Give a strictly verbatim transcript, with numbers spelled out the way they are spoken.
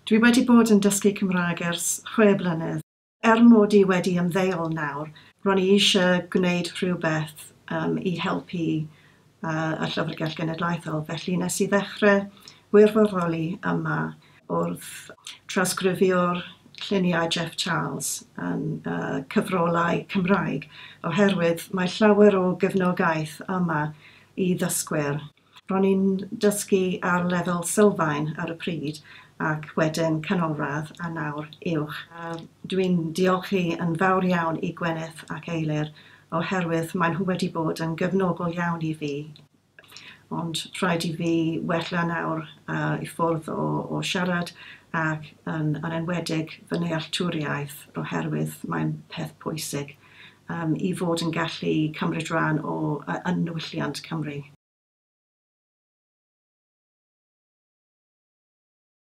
Dwi wedi bod yn dysgu Cymraeg ers chwe blynedd. Er mod i wedi ymddeol nawr, ro'n i eisiau gwneud rhywbeth um, i helpu uh, y Llyfrgell Genedlaethol. Felly nes i ddechrau wirfoddoli yma wrth trawsgrifio'r lluniau Jeff Charles yn uh, cyfrolau Cymraeg, oherwydd mae llawer o gefnogaeth yma i ddysgwyr. Ro'n i'n dysgu ar lefel sylfaen ar y pryd ac wedyn canolradd a nawr uwch. Uh, Dwi'n diolchi yn fawr iawn i Gwyneth ac Eilir oherwydd maen nhw wedi bod yn gefnogol iawn i fi. Ond rhaid i fi wella nawr uh, i ffwrdd o, o siarad ac yn, yn enwedig fy nealltwriaeth oherwydd mae'n peth pwysig um, i fod yn gallu cymryd rhan o uh, yn niwylliant Cymru.